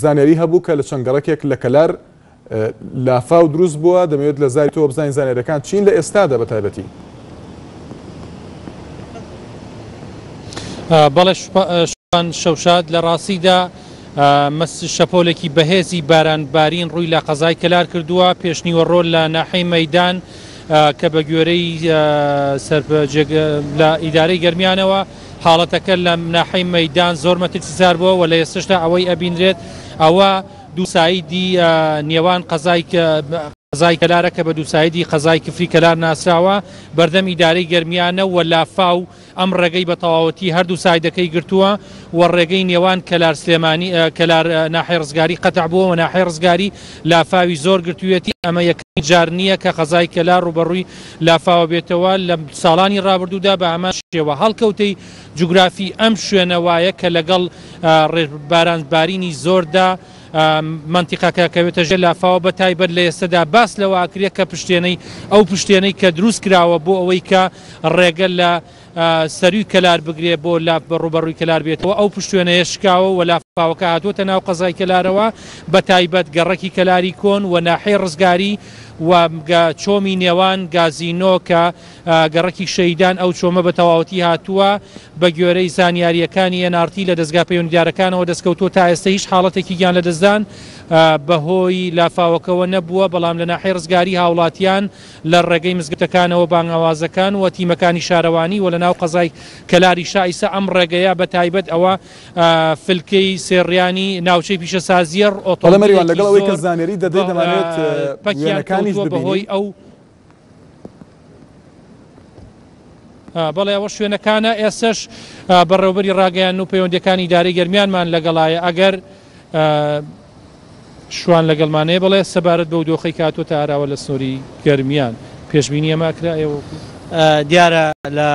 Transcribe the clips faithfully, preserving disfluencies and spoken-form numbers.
زانیاری هەبوو کە لە چەند گەڕەکێک لە کەلار لافاو دروست بووە. دەمەوێت لە زاری تۆ بزانین زانیاریەکان چین لە ئێستادا بە تایبەتی. بەڵێ شوان شەوشاد، لە ڕاستیدا شەپۆلێکی بەهێزی بارانبارین ڕووی لە قەزای کەلار کردووە. پێشنیوەڕۆ لە ناحەی مەیدان کە بە گوێرەی لە ئیدارەی گەرمیانەوە حاڵەتەکە لە ناحەی مەیدان زۆر مەترسیدار بووە و لە ئێستاشدا ئەوەی ئەبینرێت ئەوە دوو سایدی نێوان قەزای قەزای کەلارە کە بە دوو سایدی قەزای کفری کەلار ناسراوە، بەردەم ئیدارەی گەرمیانە و لافاو ئەم ڕێگەی بە تەواوەتی هەردوو سایدەکەی گرتووە و ڕێگەی نێوان کەلار سلێمانی کەلار ناحەی ڕزگاری قەتع بووە و ناحەی ڕزگاری لافاوی زۆر گرتوویەتی. ئەمە یەکەمین جار نییە کە قەزای کەلار ڕووبەڕووی لافاوە بێتەوە. لە ساڵانی ڕابردوودا بە هەمان شێوە هەڵکەوتەی جوگرافی ئەم شوێنە وایە کە لەگەڵ بارانبارینی زۆردا منطقەکە کەوێتە ژێر لافاوە، بە تایبەت لە ئێستادا باس لەوە ئەکرێت کە پشتێنەی ئەو پشتێنەی کە دروست کراوە بۆ ئەوەی کە ڕێگە لە سەروی کەلار بگرێ بۆ ڕووبەڕووی کەلار بێتەوە، ئەو پشتێنەیە شکاوە و لافاوەکە هاتووەتە ناو قەزای کەلارەوە، بە تایبەت گەڕەکی کەلاری کۆن و ناحەی ڕزگاری و چۆمی نێوان گازینۆ کە گەڕەکی شەیدان ئەو چۆمە بە تەواوەتی هاتووە. بە گوێرەی زانیاریەکانی ئێن ئاڕ تی لە دەستگا پەیوەندیدارەکانەوە دەستکەوتووە تا ئێستا هیچ حاڵەتێکی گیان لەدەستدان بەهۆی لافاوەکەوە نەبووە، بەڵام لە ناحەی ڕزگاری هاوڵاتیان لە ڕێگەی مزگەوتەکانەوە بانگەوازەکان و تیمەکانی شارەوانی و لە ناو قەزای کەلاری شایسە ئەم ڕێگەیە بە تایبەت ئەوە فلکەی سێڕیانی ناوچەی پیشەسازیە ئۆتۆمبیلێکی لەگەڵ ئەوەی کە زانیاری دەدەیت دەمانێت پەکیان کەوتووە بەهۆی ئەو بەڵێ ئەوە شوێنەکانە. ئێستش بەڕێوبەری ڕاگەیان و پەیوەندیەکانی ئیدارەی گەرمیانمان لەگەڵایە، ئەگەر شوان لەگەڵمانەیە بڵێ سەبارەت بەو دۆخەی کاتۆتە ئاراوە لە سنووری گەرمیان پێشبینی ئەمە کرا ئێوە؟ دیارە لە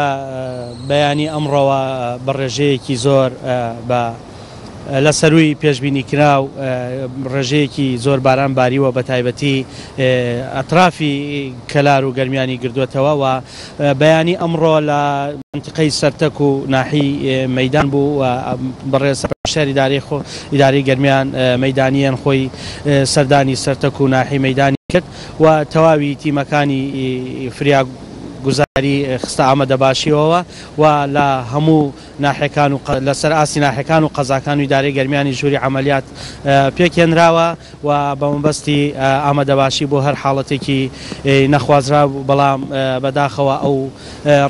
بەیانی ئەمڕۆوە بە ڕێژەیەکی زۆر بە لە سەروی پێشبینی کرا و ڕێژەیەکی زۆر باران باریوە، بە تایبەتی ئەطرافی کەلار و گەرمیانی گردوێتەوە و بەیانی ئەمڕۆ لە منطقەی سەرتەک و ناحی مەیدان بوو و بەڕێز سەرپەرشتیاری ئیدارەی خۆ ئیدارەی گەرمیان مەیدانیان خۆی سەردانی سەرتەک و ناحی مەیدانی کرد و تەواوی تیمەکانی فریاگوزاری خستە ئامادەباشیەوە و لە هەموو ناحەکان و لەسەر ئاستی ناحەکان و قەزاکان و ئیدارەی گەرمیانی ژووری عەمەلیات پێکهێنراوە و بە مەبەستی ئامادەباشی بۆ هەر حاڵەتێکی نەخوازرا، بەڵام بەداخەوە ئەو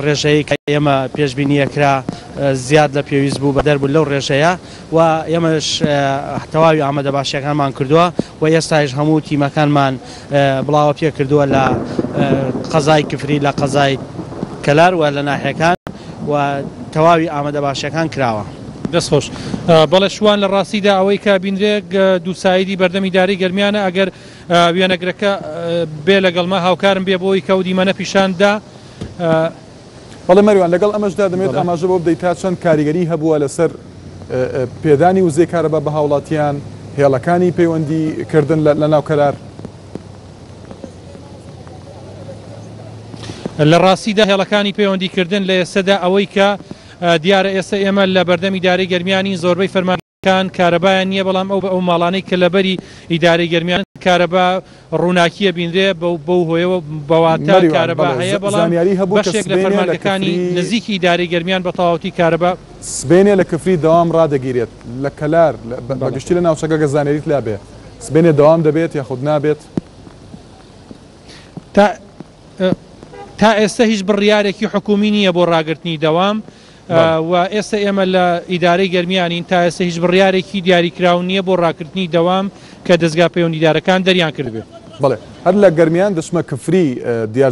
ڕێژەیە کە ئێمە پێشبینیەکرا زیاد لە پێویست بوو بەدەر بوو لەو ڕێژەیە و ئێمەش تەواوی ئامادەباشیەکانمان کردووە و ئێستایش هەموو تیمەکانمان بڵاوە پێ کردووە لە قەزای کفری، لە قەزای کەلار و لە ناحیەکان و تەواوی ئامادەباشیەکان کراوە. دەستخۆش. بەڵێ شوان، لە ڕاستیدا ئەوەی کە بینرێ دوو سایدی بەردەم ئیدارەی گەرمیانە، ئەگەر وێنەگرەکە بێ لەگەڵمە هاوکارم بێ بۆی کە ئەو دیمەنە پیشاندا. بەڵێ مەریوان، لەگەڵ ئەمەشدا دەمێت ئاماژە بۆ بدەیت تا چەند کاریگەری هەبووە لەسەر پێدانی وزەی کارەبا بە هاوڵاتیان، هێڵەکانی پەیوەندی کردن لە ناو کەلار؟ لە ڕاستیدا هێڵەکانی پەیوەندیکردن لە ئێستادا ئەوەی کە دیارە ئێستا ئێمە لە بەردەم ئیدارەی گەرمیانی زۆربەی فەرمانگەکان کارەبایان نییە، بەڵام ئەو ئەو ماڵانەی کە لەبەری ئیدارەی گەرمیان کارەبا ڕووناکیە بینرێ بەو هۆیەوە بەواتە کارەبا هەیە، بەڵام بەشێک لە فەرمانگەکانی نزیکی ئیدارەی گەرمیان بە تەواوەتی کارەبا سبێنێ لە کفری دەوام ڕادەگیرێت لە کەلار بەگشتی لە ناوچەکە گە زانیاریت لابێ سبێنێ دەوام دەبێت یاخود نابێت؟ تا تا ئێستا هیچ بڕیارێکی حکومی نییە بۆ ڕاگرتنی دەوام و ئێستا ئێمە لە ئیدارەی گەرمیانین، تا ئێستا هیچ بڕیارێکی دیاریکراو نییە بۆ ڕاکردنی دەوام کە دەستگا پەیوەندیدارەکان دەریان کردبێت. بەڵێ هەر لە گەرمیان دەچمە کفری دیار